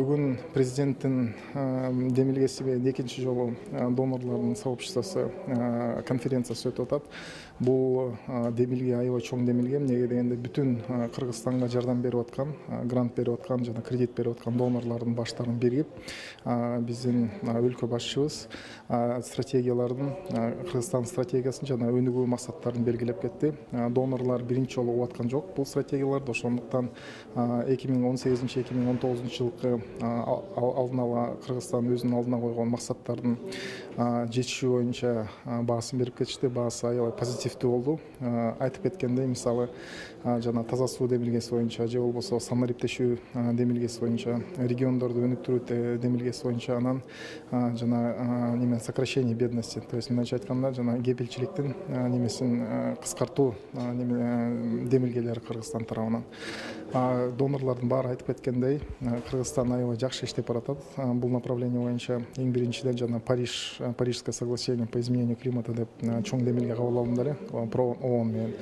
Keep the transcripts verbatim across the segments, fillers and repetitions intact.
Бүгүн президенттин демилгеси экинчи жолу донорлордун сообществосу конференциясы өтүп атат. Бул демилге аябай чоң демилге. Эмнеге дегенде бүтүн Кыргызстанга жардам берип аткан, грант берип аткан жана кредит берип аткан донорлордун баштарын биригип, биздин өлкө башчыбыз стратегиялардын, Кыргызстан стратегиясын жана өнүгүү максаттарын белгилеп кетти. Донорлор биринчи жолу угуп аткан жок бул стратегияларды, ошондуктан эки миң он сегизинчи эки миң он тогузунчу жылкы алдын ала Кыргызстан өзүнүн алдына койгон максаттардын жетишүү боюнча баасын берип кетишти. Баасы аябай позитивдүү болду. Айтып кеткендей, мисалы, жана таза суу демилгеси боюнча же болбосо самариптешүү демилгеси боюнча, региондорду өнүктүрүү демилгеси боюнча, анан жана неме сокращение бедности, то есть мындайча айтканда, жана кепилчиликтин немесин кыскартуу демилгелери Кыргызстан тарабынан. Донорлордун баары айтып кеткендей, Кыргызстан аябай жакшы иштеп баратат. Бул направление боюнча эң биринчиден жана Париж, Парижское соглашение по изменению климата деп чоң демилге кабыл алынды эле ООН менен.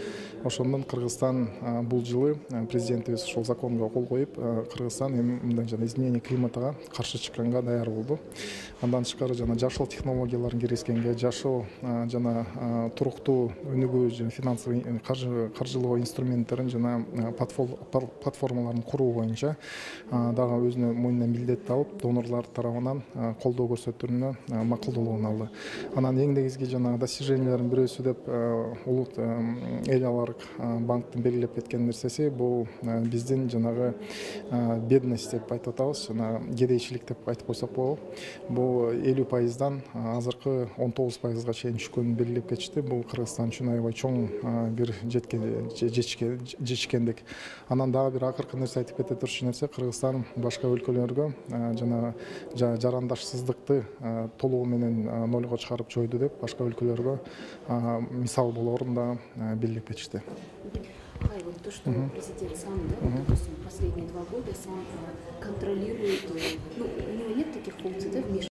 Ошондон Кыргызстан бул жылы президентибиз ошол законго кол коюп, Кыргызстан эми мындай жана изменение климатага каршы чыкканга даяр болду. Андан тышкары жана жашыл технологияларын киргизгенге, жашыл жана туруктуу өнүгүү жана финансовый каржылоо инструменттерин жана платформаларын куруу боюнча дагы өзүнө мойнуна милдет алып, донорлор тарабынан колдоо көрсөтүүнү макулдуулугун алды. Анан эң негизги жана достижениялардын бирөөсү деп улут эл аларык банктын белгилеп кеткен нерсеси бул биздин жанагы бедность деп айтып атабыз, жана кедейчилик деп айтып койсок болот. Бул элүү пайыздан азыркы он тогуз пайызга чейин түшкөнүн белгилеп кетишти. Бул Кыргызстан үчүн аябай чоң бир жетишкендик. Анан дагы бир акыркы нерсе айтып кете турчу нерсе, Кыргызстан башка өлкөлөргө жана жарандашсыздыкты толугу менен нолго чыгарып жойду деп башка өлкөлөргө мисал болорун да белгилеп кетишти. Вот то, что президент сам, да, вот, допустим, последние два года сам контролирует, ну, у него нет таких функций, да, вмешивания.